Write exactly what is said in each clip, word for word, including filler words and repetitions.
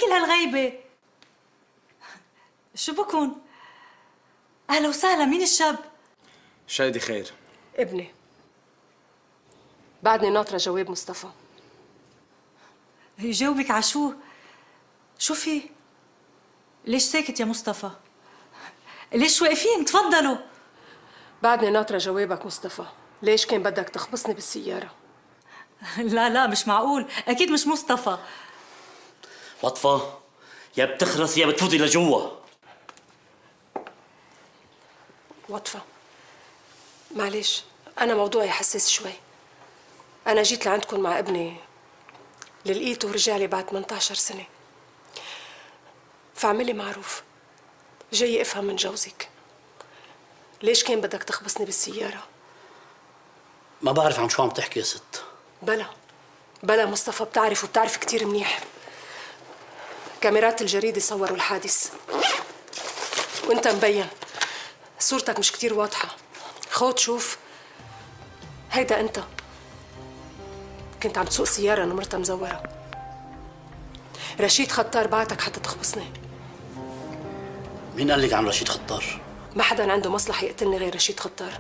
كل هالغيبة؟ شو بكون؟ أهلا وسهلا، مين الشاب؟ شايدي خير. ابني. بعدني ناطرة جواب مصطفى. يجاوبك على شو؟ شو في؟ ليش ساكت يا مصطفى؟ ليش واقفين؟ تفضلوا. بعدني ناطرة جوابك مصطفى، ليش كان بدك تخبصني بالسيارة؟ لا لا مش معقول، أكيد مش مصطفى. وطفة، يا بتخرس يا بتفوتي لجوا. وطفة، معلش أنا موضوعي حساس شوي. أنا جيت لعندكم مع ابني اللي لقيته ورجع لي بعد ثمانية عشر سنة، فاعملي معروف، جاي أفهم من جوزك ليش كان بدك تخبصني بالسيارة؟ ما بعرف عن شو عم تحكي يا ست. بلا بلا مصطفى، بتعرف وبتعرف كتير منيح. كاميرات الجريدة صوروا الحادث وانت مبين، صورتك مش كتير واضحة. خود شوف، هيدا انت كنت عم تسوق سيارة نمرتها مزورة. رشيد خطار بعتك حتى تخبصني. مين قال لك عن رشيد خطار؟ ما حدا عنده مصلحة يقتلني غير رشيد خطار،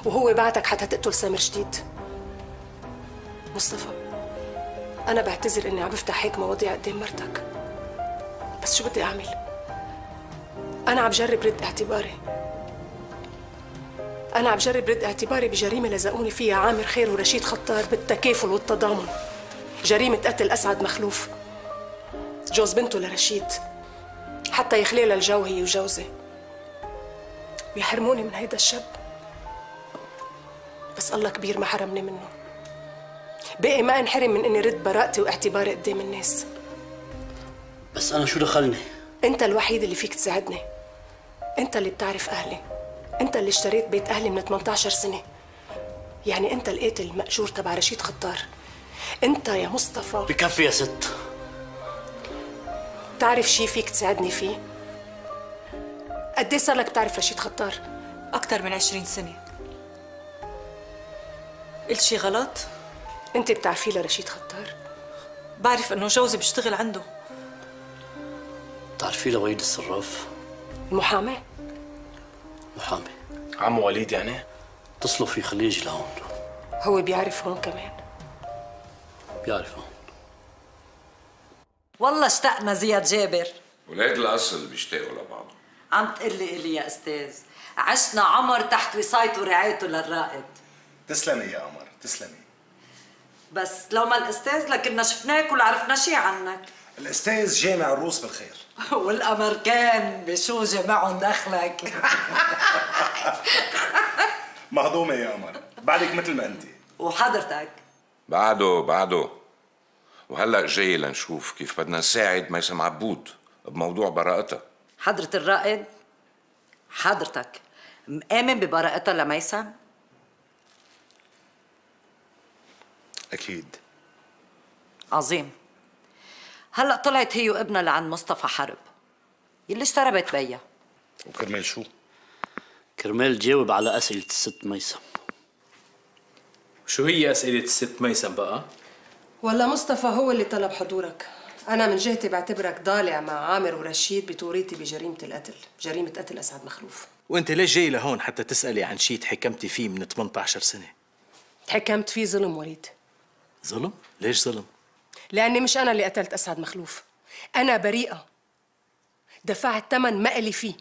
وهو بعتك حتى تقتل سامر جديد. مصطفى، أنا بعتذر إني عم بفتح هيك مواضيع قدام مرتك، بس شو بدي أعمل؟ أنا عم جرب رد اعتباري. أنا عم جرب رد اعتباري بجريمة لزقوني فيها عامر خير ورشيد خطار بالتكافل والتضامن. جريمة قتل أسعد مخلوف، جوز بنته لرشيد، حتى يخليها الجو هي وجوزي، ويحرموني من هيدا الشاب. بس الله كبير ما حرمني منه. بقي ما انحرم من اني رد براءتي واعتباري قدام الناس. بس أنا شو دخلني؟ أنت الوحيد اللي فيك تساعدني. أنت اللي بتعرف أهلي، أنت اللي اشتريت بيت أهلي من ثمانية عشر سنة. يعني أنت القاتل المأجور تبع رشيد خطار. أنت يا مصطفى. بكفي يا ست. بتعرف شي فيك تساعدني فيه؟ قد ايه صار لك بتعرف رشيد خطار؟ أكثر من عشرين سنة. قلت شي غلط؟ أنت بتعرفي لرشيد خطار؟ بعرف إنه جوزي بيشتغل عنده. بتعرفي لوليد الصراف؟ المحامي؟ محامي. عمو وليد يعني؟ اتصلوا فيه خليه يجي لهون. هو بيعرف هون كمان؟ بيعرف هون. والله اشتقنا زياد جابر. ولاد الأصل بيشتاقوا لبعض. عم تقلي إلي يا أستاذ، عشنا عمر تحت وصايته ورعايته للرائد. تسلمي يا قمر، تسلمي. بس لو ما الأستاذ لكنا شفناك ولا عرفنا شي عنك. الأستاذ جامع الروس بالخير. والأمريكان بشو جمعهم دخلك؟ مهضومة يا قمر، بعدك مثل ما أنت. وحضرتك؟ بعده بعده. وهلأ جاي لنشوف كيف بدنا نساعد ميسم عبود بموضوع براءتها. حضرة الرائد، حضرتك مآمن ببراءتها لميسم؟ أكيد. عظيم. هلأ طلعت هي وابنها لعند مصطفى حرب يلي اشترى بيت بيا. وكرمال شو؟ كرمال تجاوب على أسئلة الست ميسم. شو هي أسئلة الست ميسم بقى؟ والله مصطفى هو اللي طلب حضورك. أنا من جهتي بعتبرك ضالع مع عامر ورشيد بتوريطي بجريمة القتل، جريمة قتل أسعد مخلوف. وأنت ليش جاي لهون حتى تسألي عن شيء تحكمتي فيه من ثمانية عشر سنة؟ تحكمت فيه ظلم وليد. ظلم؟ ليش ظلم؟ لأني مش أنا اللي قتلت أسعد مخلوف، أنا بريئة، دفعت ثمن ما إلي فيه.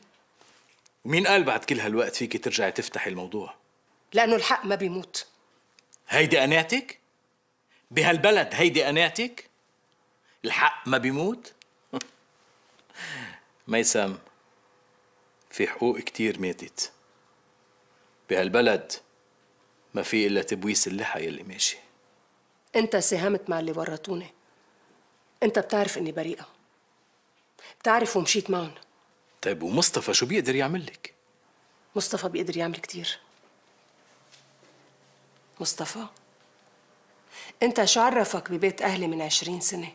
ومين قال بعد كل هالوقت فيكي ترجعي تفتحي الموضوع؟ لأنه الحق ما بيموت. هيدي قناعتك؟ بهالبلد هيدي قناعتك؟ الحق ما بيموت؟ ميسم، في حقوق كتير ماتت بهالبلد، ما في إلا تبويس اللحى يلي ماشي. أنت ساهمت مع اللي ورطوني. أنت بتعرف إني بريئة، بتعرف ومشيت معهم. طيب ومصطفى شو بيقدر يعمل لك؟ مصطفى بيقدر يعمل كتير. مصطفى، أنت شو عرفك ببيت أهلي من عشرين سنة؟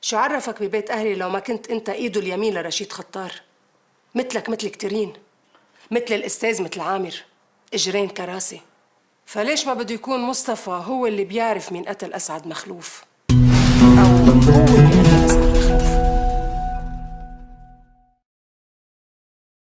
شو عرفك ببيت أهلي لو ما كنت أنت إيده اليمين لرشيد خطار؟ مثلك مثل كتيرين، مثل الأستاذ مثل عامر، إجرين كراسي. فليش ما بده يكون مصطفى هو اللي بيعرف مين قتل أسعد مخلوف؟ أو هو اللي